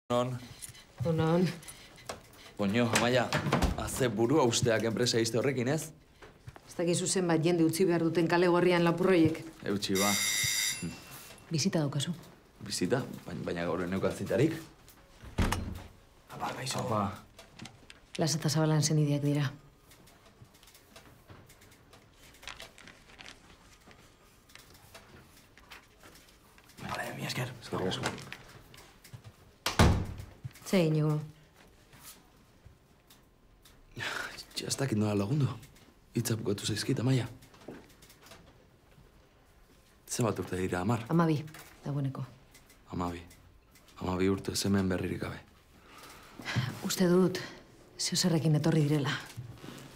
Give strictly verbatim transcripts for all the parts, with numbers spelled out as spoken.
Non. Non. Poño, Amaia, haze burua usteak enpresa izte horrekin, ez? Ez dakizu zenbat jende utzi behar duten kale gorrian lapurroiek. Eutxi, ba. Bizita daukazu. Bizita? Baina, baina gaur eneukat zitarik. Apa, gaixo. Apa. Las eta Zabalan senideak dira. Vale, mi esker. Eskerrik asko. Zer Iñigo? Ja, ez dakit nola lagundu. Hitza bukatu zaizkit, Amaia. Zenbat urte dira, Amar? Amabi, dagoeneko. Amabi. Amabi urte hemen berririk gabe. Uste dut, zeo zerrekin etorri direla.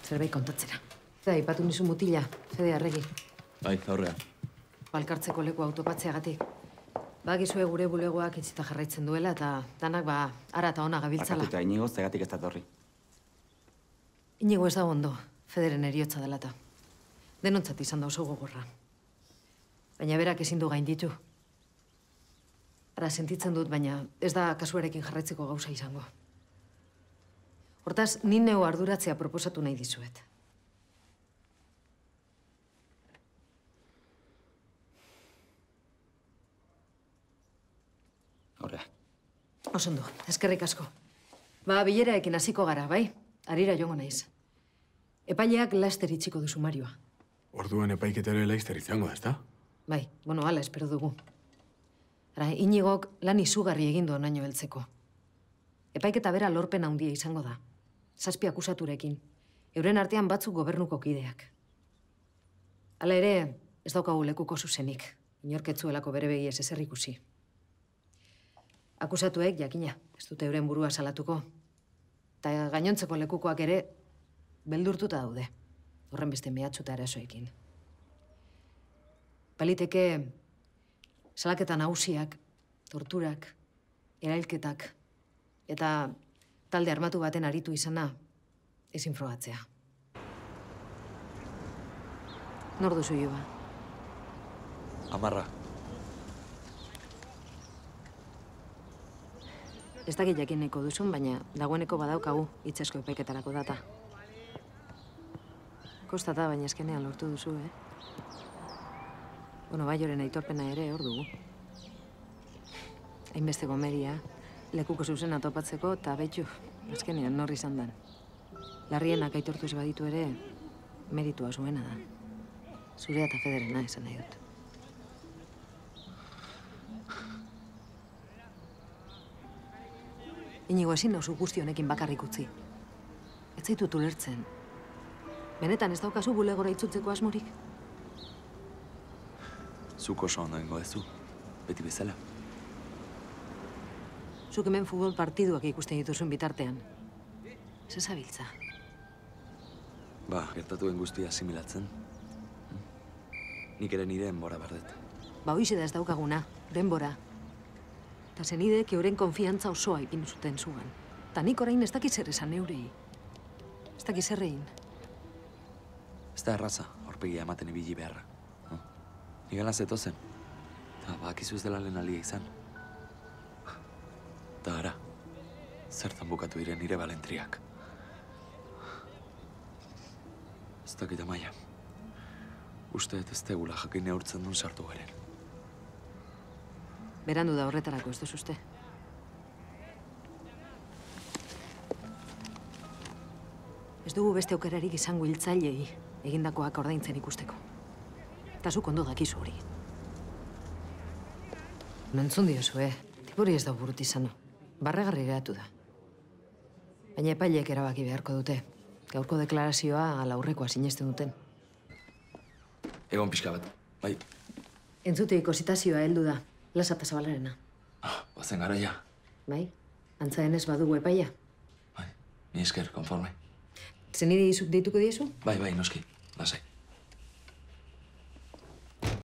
Zerbait kontatzera. Eta ipatu nizu mutila, Fede Arregi. Bai, aurrean. Balkartzeko leku autopatzeagatik. Bakizue gure bulegoak itzita jarraitzen duela eta danak ba ara eta ona gabiltzala. Bakatuta, Iñigo, zegatik ez datorri. Iñigo ez da ondo, Federen eriotza dela eta. Denontzat izan da oso gogorra. Baina berak ezin du gainditu. Ara sentitzen dut, baina ez da kasuarekin jarraitzeko gauza izango. Hortaz, ni neu arduratzea proposatu nahi dizuet. Horrea. Osondo, eskerrik asko. Ba, bileraekin hasiko gara, bai? Harira joango naiz. Epaileak laster itxiko du sumarioa. Orduan epaiketare laizter izango da, ezta? Bai, bueno, hala espero dugu. Ara, Iñigok lan izugarri egin du onaino heltzeko. Epaiketa bera lorpen handia izango da. Zazpi akusaturekin. Euren artean batzuk gobernuko kideak. Hala ere, ez daukagu lekuko zuzenik. Inorketzuelako bere begiez ezer ikusi. Akusatuek, jakina, ez dute euren burua salatuko. Eta gainontzeko lekukoak ere, beldurtuta daude. Horren beste mehatxuta erasoekin. Baliteke, salaketa nagusiak, torturak, erailketak, eta talde armatu baten aritu izana, ezin frogatzea. Nor duzu Iba? Amarra. Ez dakit jakin nahiko duzun, baina dagoeneko badaukagu itsasko epaiketarako data. Kostata, baina eskenean lortu duzu, eh? Bueno, Baioren aitorpena ere hor dugu. Hainbeste gomeria, lekuko zuzena topatzeko, eta betxu, azkenean nor izan dan. Larrienak aitortu ez baditu ere, meritua zuena da. Zurea eta Federena esan nahi dut. Iñigo, ezin nauzu guzti honekin bakarrik utzi. Ez zaitut ulertzen. Benetan ez daukazu bulegora itzultzeko asmorik? Zuk oso ondo ingo ez du, beti bezala. Zuk hemen futbol partiduak ikusten dituzun bitartean. Ez ezabiltza. Ba, gertatuen guztia asimilatzen. Nik ere nire denbora bardet. Ba, hoize da ez daukaguna, denbora. Eta zenidek euren konfiantza osoa ipin zuten zuan. Ta nik orain ez dakiz zer esan eurei. Ez dakiz zer egin. Ez da erraza, aurpegia ematen ibili beharra. Nik gana zetozen. Eta bakizu ez dela lehen alia izan. Eta ara, zertan bukatu diren nire balentriak. Ez dakit Amaia. Uste ez tegula jakin neurtzen duen sartu garen. Berandu da horretarako ez duz uste. Ez dugu beste aukerarik izango hiltzailei egindakoak ordaintzen ikusteko. Eta zuk ondo dakizu hori. Nantzun diozu, eh? Tipuri ez da burut izan. Barregarri geratu da. Baina epaileek erabaki beharko dute. Gaurko deklarazioa ala aurrekoa sinesten duten. Egon pixka bat, bai. Entzuteiko zitazioa heldu da. Lasa eta Zabalarena. Ah, bazen garaia. Bai? Antza denez badugu epaia. Bai, ni esker, konforme. Zenide izuk deituko diezu? Bai, bai, noski, lasai.